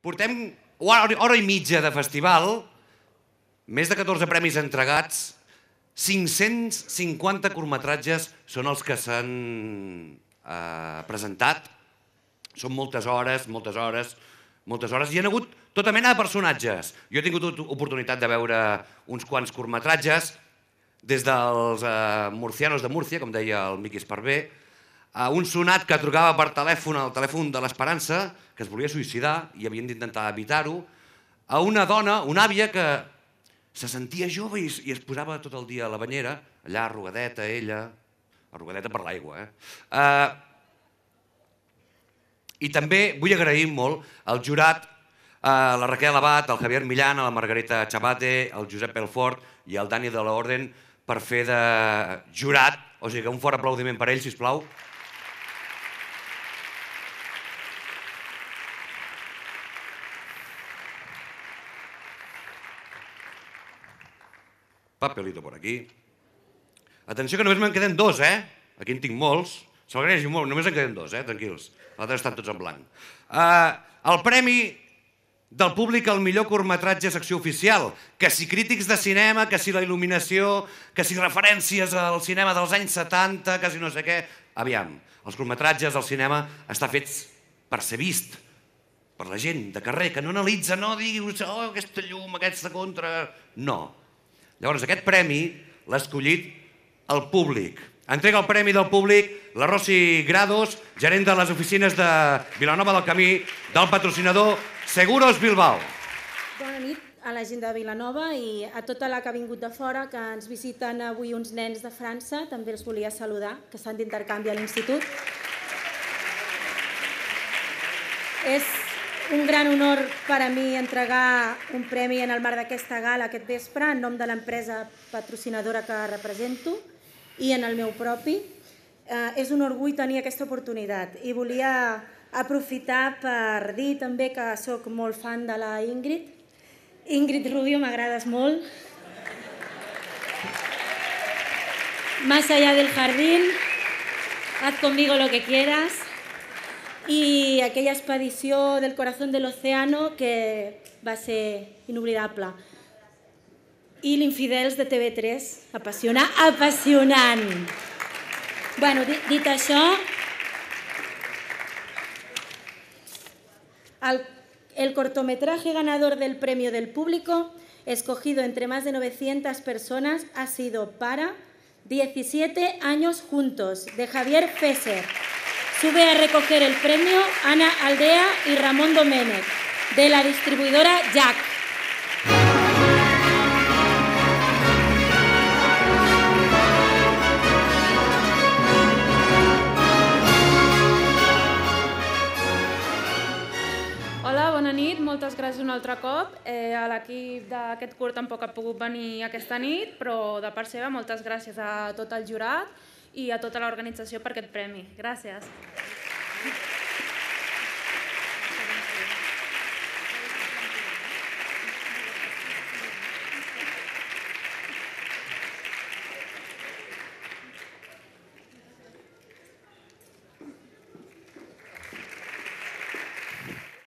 Portem hora i mitja de festival, més de 14 premis entregats, 550 curtmetratges són els que s'han presentat. Són moltes hores, moltes hores, moltes hores. Hi ha hagut tota mena de personatges. Jo he tingut oportunitat de veure uns quants curtmetratges, des dels murcianos de Múrcia, com deia el Miqui Esparvé, a un sonat que trucava per telèfon al telèfon de l'Esperança, que es volia suïcidar i havien d'intentar evitar-ho, a una dona, una àvia, que se sentia jove i es posava tot el dia a la banyera, allà arrugadeta, ella, arrugadeta per l'aigua, I també vull agrair molt al jurat, a la Raquel Abad, al Javier Millán, a la Margarita Chabate, al Josep Pelfort i al Dani de l'Orden per fer de jurat. O sigui que un fort aplaudiment per ells, sisplau. Papelito por aquí. Atenció que només me'n queden dos, Aquí en tinc molts. S'agraeixo molt, només en queden dos, tranquils. Els altres estan tots en blanc. El premi del públic al millor curtmetratge secció oficial. Que si crítics de cinema, que si la il·luminació, que si referències al cinema dels anys 70, que si no sé què. Aviam, els curtmetratges al cinema estan fets per ser vist, per la gent de carrer, que no analitza, no dius, oh, aquesta llum, aquesta contra... No. Llavors, aquest premi l'ha escollit el públic. Entrega el premi del públic la Rosy Grados, gerent de les oficines de Vilanova del Camí, del patrocinador Seguros Bilbao. Bona nit a la gent de Vilanova i a tota la que ha vingut de fora, que ens visiten avui uns nens de França, també els volia saludar, que estan d'intercanvi a l'institut. És un gran honor per a mi entregar un premi en el marc d'aquesta gala aquest vespre en nom de l'empresa patrocinadora que represento i en el meu propi. És un orgull tenir aquesta oportunitat i volia aprofitar per dir també que sóc molt fan de la Ingrid. Ingrid Rubio, m'agrades molt. Más allá del jardín, haz conmigo lo que quieras. I aquella expedició del corazón del océano que va ser inoblidable. I l'Infidels de TV3, apassionant. Bueno, dit això, el cortometraje ganador del premio del público, escogido entre más de 900 personas, ha sido para 17 años juntos, de Javier Fesser. Sube a recoger el premio Ana Aldea y Ramón Doménech, de la distribuidora Jack. Hola, bona nit, moltes gràcies un altre cop. A l'equip d'aquest curt tampoc ha pogut venir aquesta nit, però de part seva moltes gràcies a tot el jurat i a tota l'organització per aquest premi. Gràcies.